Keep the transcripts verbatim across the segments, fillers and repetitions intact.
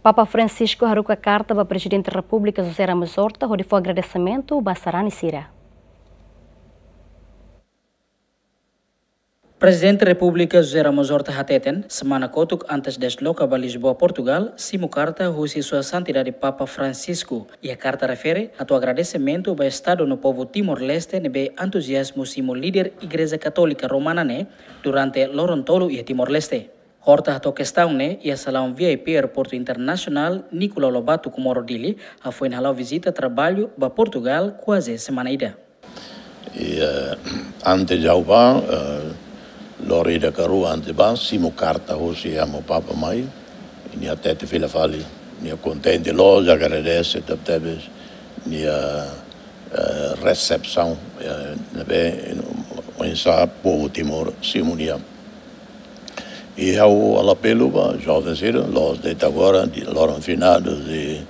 Papa Francisco haruka karta ba Prezidente Repúblika José Ramos Horta hodi fó agradesimentu ba sarani sira. Prezidente Repúblika José Ramos Horta hateten, semana kotuk antes desloka ba Lisboa, Portugal, simu karta husi Sua Santidade Papa Francisco. Iha karta refere atu agradesimentu ba Estadu no povu Timor-Leste ne'ebé entuziazmu simu líder Igreja Katólika Romana ne'e durante loron tolu iha Timor-Leste. Horta hato'o kestaun ne'e iha salaun V I P Aeroportu Internasionál Nicolau Lobato Comoro Dili, hafoin hala'o vizita traballu ba Portugal kuaze semana ida. I, eh, antes de ha'u bá, eh, loron ida ka rua antes bá, simu karta husi Amu Papa mai, i nia hatete fila fali, nia kontente loos, agradese tebetebes nia, eh, resepsaun, eh, ne'ebé oinsá povu Timor simu nia. I ha'u halo apelu ba joven sira, loos de'it agora, di loron finados, i,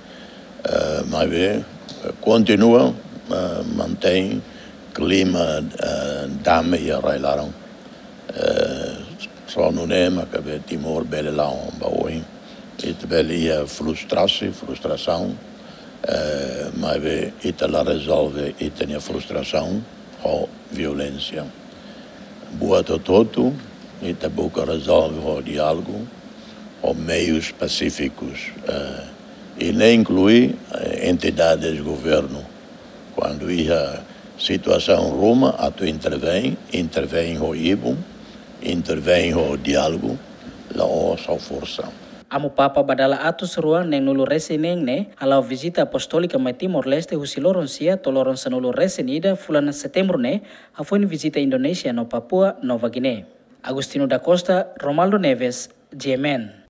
eh, maibé, eh, kontinua, eh, mantein klima, eh, dame iha rai-laran. Eh, só nune'e mak be Timor bele la'o ba oin. Ita bele iha frustrasaun, frustrasaun, eh, maibé ita la rezolve ita-nia frustrasaun ho violénsia. Buat hotu-hotu, ita buka rezolve ho diálogu, ho meius pasífikus, eh, i ne'e inklui, eh, entidades governu. Kuandu iha situasaun ruma atu intervein, intervein ho ibun, intervein ho diálogu, la'ós ho forsa. Amu Papa ba dala atus rua neen-nulu resin neen ne'e hala'o vizita apostólika mai Timor-Leste husi loron sia to'o loron sanulu resin ida fulan Setembru ne'e, hafoin vizita Indonézia no Papua Nova Guiné. Agostinho da Costa, Romaldo Neves, G M N.